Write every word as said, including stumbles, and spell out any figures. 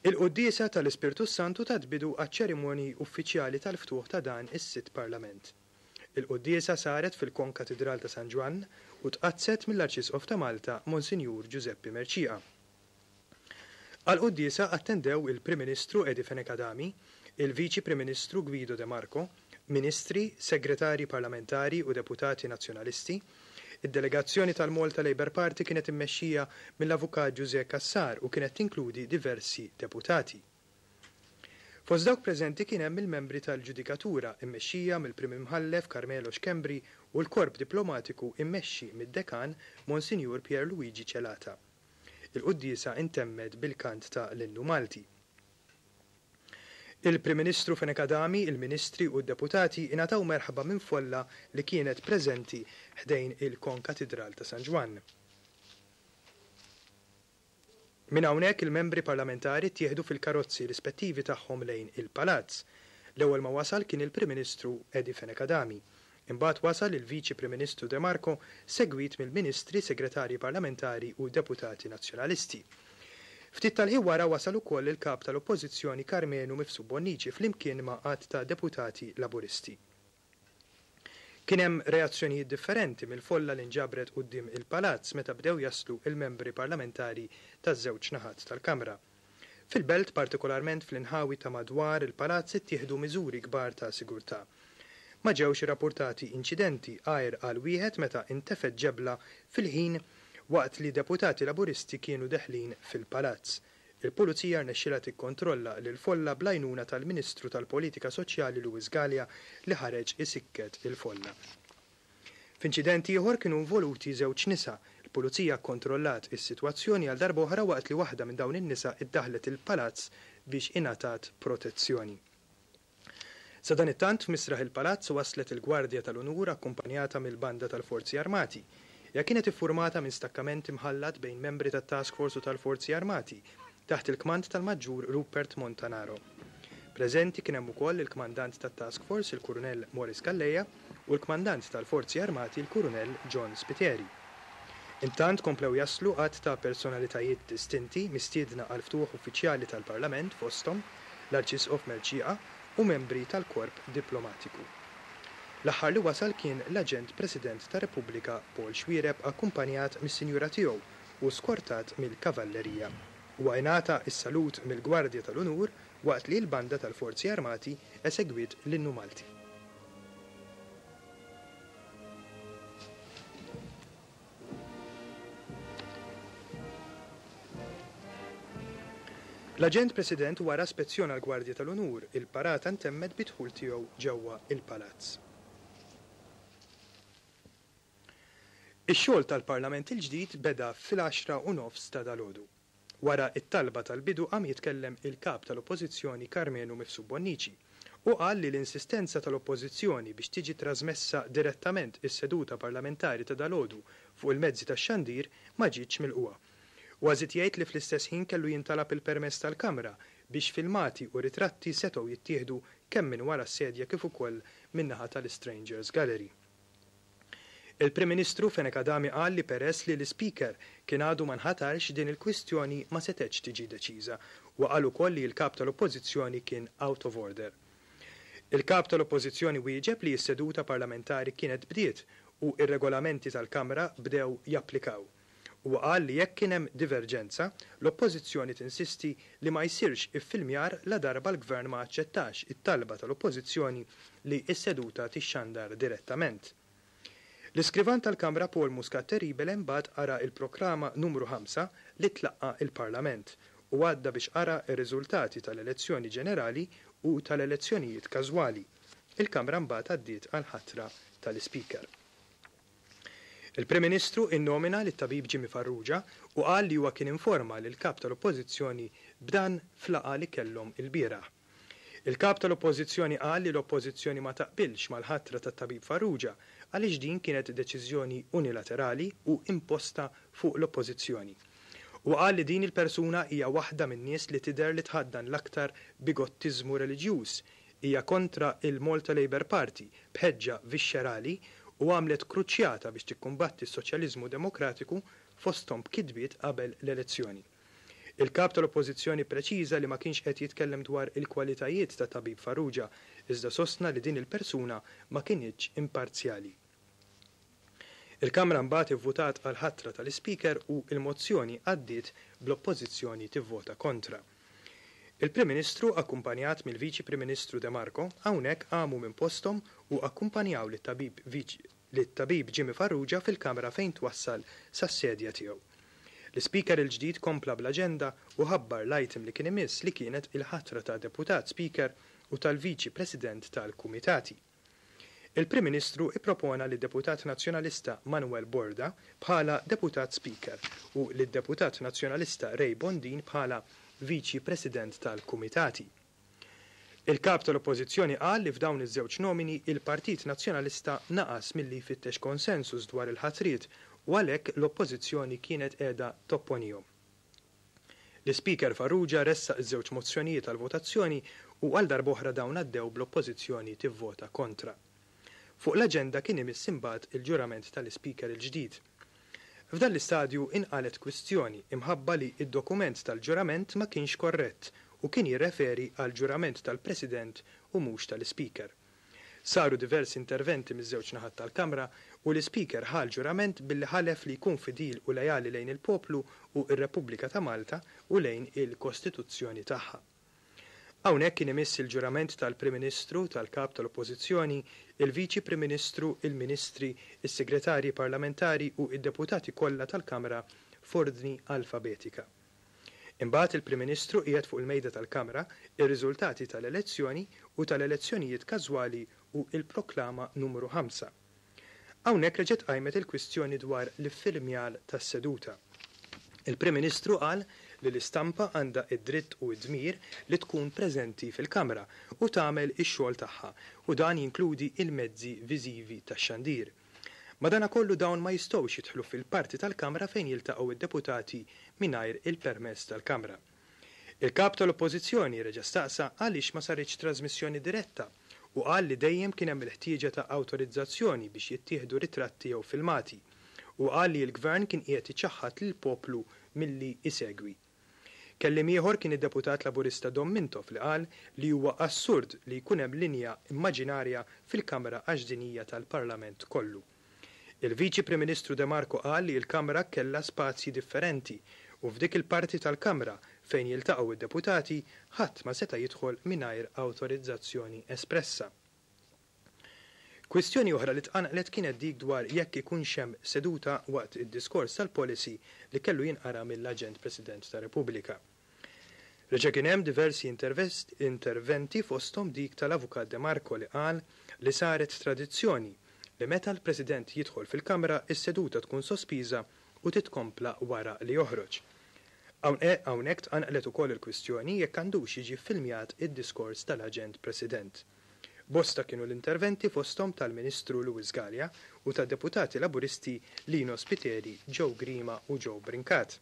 Il-quddiesa tal-Ispirtu Santu tat bidu għaċ-ċerimonji uffiċjali tal-ftuħ ta' dan is-sitt Parlament. Il-quddiesa saret fil-Konkatidral ta' San Ġwann u tqaddset mill-Arċisqof ta' Malta, Monsinjur Ġużeppi Mercieca. Għall-quddiesa attendew il-Prim Ministru Eddie Fenech Adami, il-Viċi Prim Ministru Guido De Marco, ministri, segretarji parlamentari u deputati nazzjonalisti. Id-delegazzjoni tal-Malta Labour Party kienet immexxija mill-Avukat Ġużè Cassar u kienet tinkludi diversi deputati. Fost dawk preżenti kien hemm il-membri tal-ġudikatura immexxija mill-Prim Imħallef Carmelo Schembri u l-korp diplomatiku immexxi mid-dekan Monsinjur Pier Luigi Celata. Il-quddiesa intemmet bil-kant ta' l-innu Malti. Il-Prim Ministru Fenech Adami, il-Ministri u d-deputati ingħataw merħba minn folla li kienet preżenti ħdejn il-Konkatidral ta' San Ġwann. Minn hawnhekk il-membri parlamentari ttieħdu fil-karozzi rispettivi tagħhom lejn il-Palazz. L-ewwel ma wasal kien il-Prim Ministru Eddie Fenech Adami. Imbagħad wasal il-Viċi Prim Ministru De Marco, segwit mill-Ministri, Segretarji Parlamentari u Deputati Nazzjonalisti. Ftit tal-ħin wara wasal ukoll il-Kap tal-Oppożizzjoni Karmenu Mifsud Bonnici flimkien ma' għadd ta' deputati Laburisti. Kien hemm reazzjonijiet differenti mill-folla li nġabret quddiem il-Palazz meta bdew jaslu il-membri parlamentari taż-żewġ naħat tal-Kamra. Fil-belt, partikolarment fl-inħawi ta' madwar il-Palazz, ittieħdu miżuri kbar ta' sigurtà. Ma ġewx irrappurtati inċidenti għajr għal wieħed meta intefet ġebla fil-ħin waqt li deputati Laburisti kienu deħlin fil-Palazz. Il-Pulizija rnexxilha tikkontrolla lil folla bl-għajnuna tal-Ministru tal-Politika Soċjali Louis Galea li ħareġ isikket il-folla. F'inċident ieħor kienu involuti żewġ nisa. Il-Pulizija kkontrollat is-sitwazzjoni għal darba oħra waqt li waħda minn dawn in-nisa iddaħlet il-Palazz biex ingħatat protezzjoni. Sadanittant f'misraħ il-Palazz waslet il-Gwardja tal-Unur akkumpanjata mill-Banda tal-Forzi Armati. Hija kienet iffurmata minn stakkament imħallat bejn membri tat-Task Force u tal-Forzi Armati taħt il-kmand tal-Maġġur Rupert Montanaro. Preżenti kien hemm ukoll il-kmandant tat-Task Force, il-Kurunell Maurice Calleja, u l-kmandant tal-Forzi Armati, il-Kurunell John Spiteri. Intant komplew jaslu għadd ta' personalitajiet distinti mistiedna għal ftuħ uffiċjali tal-Parlament, fosthom l-Arċisqof Mercieca u membri tal-Korp Diplomatiku. L-aħħar li wasal kien l-Aġent President tar-Repubblika Paul Xuereb akkumpanjat mis-Sinjura tiegħu u skortat mill-Kavallerija. Huwa ingħata s-salut mill-Gwardja tal-Unur waqt li l-Banda tal-Forzi Armati esegwiet l-innu Malti. L-Aġent President wara spezzjona l-Gwardja tal-Unur, il-parata ntemmet bidħul tiegħu ġewwa il-Palazz. Ix-xogħol tal-Parlament il-ġdid beda fil-għaxra u nofs ta' dalgħodu. Wara it-talba tal-bidu qam jitkellem il-Kap tal-Oppożizzjoni Karmenu Mifsud Bonnici u qal li l-insistenza tal-Oppożizzjoni biex tiġi trasmessa direttament is-seduta parlamentari ta' dalgħodu fuq il-mezzi tax-xandir ma ġietx milqugħa. Huwa żied jgħid li fl-istess ħin kellu jintalab il-permess tal-Kamra biex filmati u ritratti setgħu jittieħdu kemm minn wara s-sedja kif ukoll min-naħa tal-Strangers Gallery. Il-Prim Ministru Fenech Adami qal li peress li l-Speaker kien għadu ma nħatarx din il-kwistjoni ma setgħetx tiġi deċiża u qal ukoll li l-Kap tal-Oppożizzjoni kien out of order. Il-Kap tal-Oppożizzjoni wieġeb li s-seduta parlamentari kienet bdiet u ir-regolamenti tal-Kamra bdew japplikaw. U qal li jekk kien hemm diverġenza, l-Oppożizzjoni tinsisti li ma jsirx iffilmjar la darba l-Gvern ma aċċettax it-talba tal-Oppożizzjoni li s-seduta tixxandar direttament. L-iskrivan tal-Kamra Paul Muscat Terribile mbagħad qara il-proklama numru ħamsa li tlaqqa il-Parlament u għadda biex qara ir-riżultati tal-elezzjoni ġenerali u tal-elezzjonijiet każwali. Il-Kamra mbagħad għaddiet għal-ħatra tal-Ispeaker. Il-Prim Ministru innomina lit-tabib Jimmy Farrugia u qal li huwa kien informa lil kap tal-Oppożizzjoni b'dan f'laqgħa li kellhom il-bieraħ. Il-kap tal-Oppożizzjoni qal li l-Oppożizzjoni ma taqbilx mal-ħatra tat-tabib Farrugia għaliex din kienet deċiżjoni unilaterali u imposta fuq l-Oppożizzjoni. U qal li din il-persuna hija waħda min-nies li tidher li tħaddan l-aktar bigottiżmu reliġjuż, hija kontra il-Malta Labour Party b'ħeġġa viscerali u għamlet kruċjata biex tikkumbatti s-soċjaliżmu demokratiku fosthom b'kitbiet qabel l-elezzjoni. Il-kap tal-Oppożizzjoni preċiża li ma kienx qed jitkellem dwar il-kwalitajiet ta' Tabib Farrugia, iżda sostna li din il-persuna ma kinitx imparzjali. Il-Kamra mbagħad ivvutat għal ħatra tal-Ispeaker u il-mozzjoni għaddiet bl-Oppożizzjoni tivvota kontra. Il-Prim Ministru, akkumpanjat mill-Viċi Prim Ministru De Marco, hawnhekk qamu minn posthom u akkumpanjaw lit-tabib lit-tabib Jimmy Farrugia fil-kamra fejn twassal sas-sedja tiegħu. L-Ispeaker il-ġdid kompla bl-aġenda u ħabbar l-item li kien imiss, li kienet il-ħatra ta' Deputat Speaker u tal-Viċi President tal-Kumitati. Il-Prim Ministru ippropona lid Deputat Nazzjonalista Manuel Borda bħala Deputat Speaker u lid Deputat Nazzjonalista Ray Bondin bħala Viċi President tal-Kumitati. Il-kap tal-Oppożizzjoni qal li f'dawn iż-żewġ nomini il-Partit Nazzjonalista naqas milli jfittex konsensus dwar il-ħatriet u għalhekk l-Oppożizzjoni kienet qiegħda topponihom. L-Ispeaker Farrugia ressaq iż-żewġ mozzjonijiet għal votazzjoni u għal darb'oħra dawn għaddew bl-Oppożizzjoni tivvota kontra. Fuq l-aġenda kien imiss imbagħad il-ġurament tal-Ispeaker il-ġdid. F'dan l-istadju inqalet kwistjoni imħabba li id-dokument tal-ġurament ma kienx korrett u kien jirreferi għal ġurament tal-President u mhux tal-Ispeaker. Saru diversi interventi miż-żewġ naħat tal-Kamra u l-Ispeaker ħa l-ġurament billi ħalef li jkun fidil u lejali lejn il-poplu u ir-Repubblika ta' Malta u lejn il-Kostituzzjoni tagħha. Hawnhekk kien imiss il-ġurament tal-Prim Ministru, tal-Kap tal-Oppożizzjoni, il-Viċi Prim Ministru, il-Ministri, is-Segretarji Parlamentari u id-deputati kollha tal-Kamra f'ordni alfabetika. Imbagħad il-Prim Ministru qiegħed fuq il-mejda tal-Kamra ir-riżultati tal-elezzjoni u tal-elezzjonijiet każwali u il-proklama numru ħamsa. Hawnhekk reġgħet qajmet il-kwistjoni dwar l-iffilmjar tas-seduta. Il-Prim Ministru qal li l-istampa għandha id-dritt u id-dmir li tkun preżenti fil-Kamra u tagħmel ix-xogħol tagħha, u dan jinkludi il-mezzi viżivi tax-xandir. Madanakollu dawn ma jistgħux jidħlu fil-parti tal-Kamra fejn jiltaqgħu id-deputati mingħajr il-permess tal-Kamra. Il-kap tal-Oppożizzjoni reġa' staqsa għaliex ma saritx trasmissjoni diretta u qal li dejjem kien hemm il-ħtieġa ta' awtorizzazzjoni biex jittieħdu ritratti jew filmati, u qal li l-gvern kien qiegħed iċaħħad lill-poplu milli isegwi. Kelliem ieħor kien id-deputat Laburista Dom Mintoff, li qal li huwa assurd li jkun hemm linja immaġinarja fil-Kamra għax din hija tal-Parlament kollu. Il-Viċi Prim Ministru De Marco qal li l-Kamra kellha spazji differenti u f'dik il-parti tal-Kamra fejn jiltaqgħu id-deputati ħadd ma seta' jidħol mingħajr awtorizzazzjoni espressa. Kwistjoni oħra li tqanqlet kienet dik dwar jekk ikunx hemm seduta waqt id-diskors tal-policy li kellu jinqara mill-Aġent President ta' Repubblika. Reġa' kien hemm diversi interventi, fosthom dik tal-Avukat De Marco, li qal li saret tradizzjoni li meta l-President jidħol fil-Kamra is-seduta tkun sospiża u titkompla wara li joħroġ. Hawnhekk tqanqlet ukoll il-kwistjoni jekk għandux jiġi filmjat id-diskors tal-Aġent President. Bosta kienu l-interventi, fosthom tal-Ministru Louis Galea u tad-deputati Laburisti Lino Spiteri, Joe Grima u Joe Brincat.